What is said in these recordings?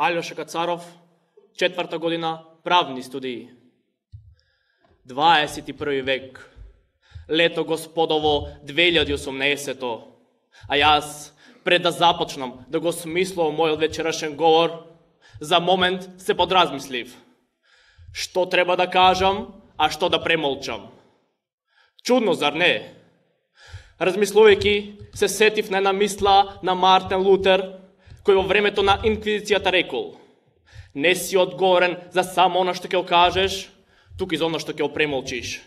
Алјоша Кацаров, 4-та година правни студии. 21 век, лето господово 2018, а јас, пред да започнам да го смислувам мојот вечерашен говор, за момент се подразмислив. Што треба да кажам, а што да премолчам? Чудно, зар не? Размислувајќи, се сетив на една мисла на Мартин Лутер, кој во времето на инквизицијата рекол: не си одговорен за само она што ќе кажеш, туку и за она што ќе премолчиш.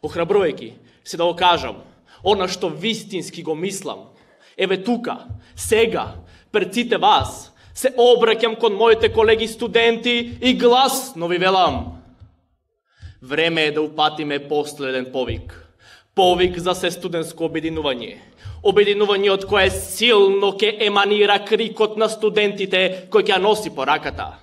Охрабрувајќи се да го кажам, она што вистински го мислам, еве тука, сега, пред сите вас, се обраќам кон моите колеги студенти и гласно ви велам: време е да упатиме последен повик. Повик за сестудентско обединување. Обединување од кое силно ќе еманира крикот на студентите кој ќе носи по раката.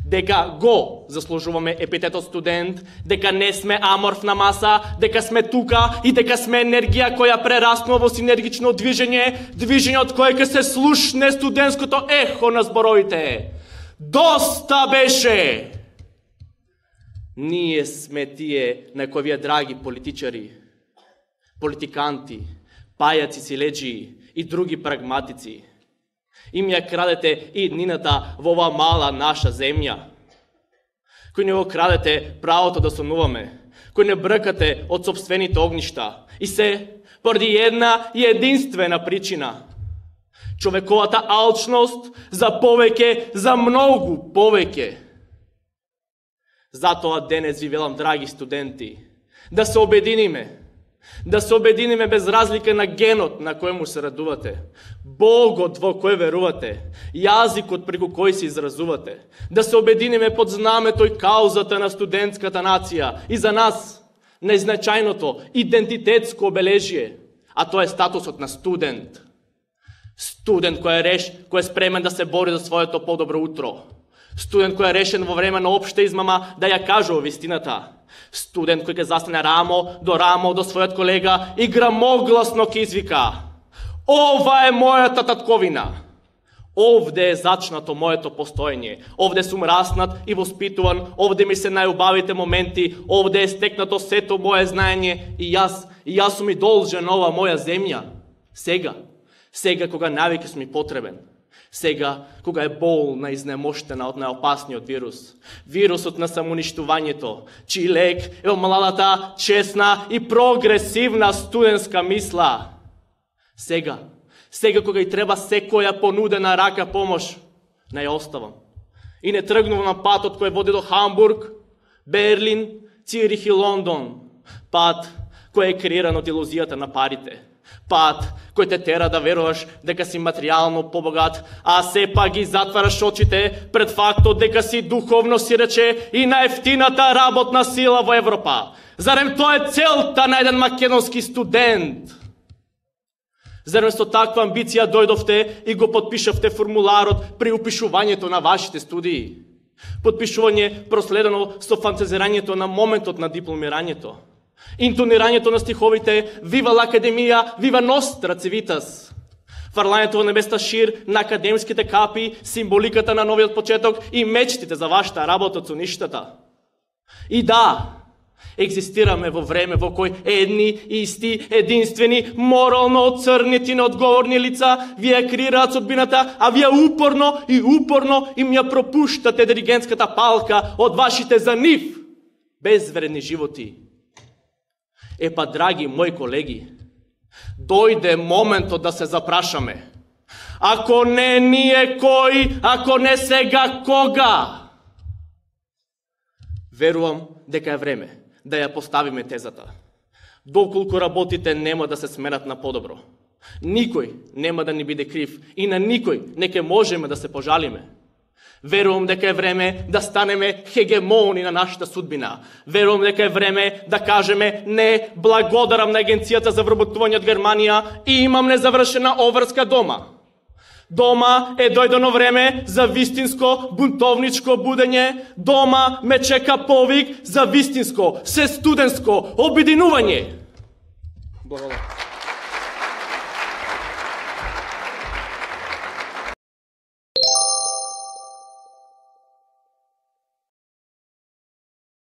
Дека го заслужуваме епитетот студент, дека не сме аморфна маса, дека сме тука и дека сме енергија која прераснува во синергично движење од кое ќе се слушне студентското ехо на зборовите. Доста беше! Ние сме тие на кои вие, драги политичари, политиканти, пајаци силеджии и други прагматици, им ја крадете иднината во ова мала наша земја, кој не го крадете правото да сонуваме, кој не бркате од собствените огништа, и се поради една и единствена причина: човековата алчност за повеќе, за многу повеќе. Затоа денес ви велам, драги студенти, да се обединиме. Да се обединиме без разлика на генот на којому се радувате, Богот во кој верувате, јазикот преку кој се изразувате. Да се обединиме под знамето и каузата на студентската нација и за нас најзначајното идентитетско обележие, а тоа е статусот на студент. Студент кој е спремен да се бори за своето подобро утро. Студент кој е решен во време на општа измама да ја кажува вистината. Студент кој ќе застане рамо до својот колега и грамогласно ќе извика: ова е мојата татковина. Овде е зачнато моето постоење. Овде сум раснат и воспитуван, овде ми се најубавите моменти, овде е стекнато сето моje знаење и јас сум и должен ова моја земја. Сега кога навеќе сум и потребен. Сега, кога е болна и изнемоштена од најопасниот вирус, вирусот на самоуништувањето, чиј лек е омладата, честна и прогресивна студентска мисла. Сега кога и треба секоја понудена рака помош, не ја оставам. И не тргнувам на патот кој води до Хамбург, Берлин, Цирих и Лондон. Пат кој е креиран од илузијата на парите. Пат кој те тера да веруваш дека си материјално побогат, а сепак ги затвараш очите пред фактот дека си духовно сирече и најефтината работна сила во Европа. Зарем тоа е целта на еден македонски студент? Зарем со таква амбиција дојдовте и го подпишавте формуларот при упишувањето на вашите студии? Подпишување проследено со фантазирањето на моментот на дипломирањето. Интонирањето на стиховите «Вива l'Академија, вива Ностра Цивитас», фрлањето во небеста шир на академските капи, символиката на новиот почеток и мечтите за вашата работа со ништата. И да, екзистираме во време во кој едни, исти, единствени, морално оцрнети, неодговорни лица вие креираат судбината, а вие упорно им ја пропуштате диригентската палка од вашите за нив безвредни животи. Епа, драги мои колеги, дојде моментот да се запрашаме. Ако не ние кој, ако не сега кога? Верувам дека е време да ја поставиме тезата. Доколку работите нема да се сменат на подобро. Никој нема да ни биде крив и на никој не ќе можеме да се пожалиме. Верувам дека е време да станеме хегемони на нашата судбина. Верувам дека е време да кажеме не, благодарам на Агенцијата за вработување од Германија и имам незавршена обврска дома. Дома е дојдено време за вистинско бунтовничко будење. Дома ме чека повик за вистинско, сестудентско обединување. Благодарам.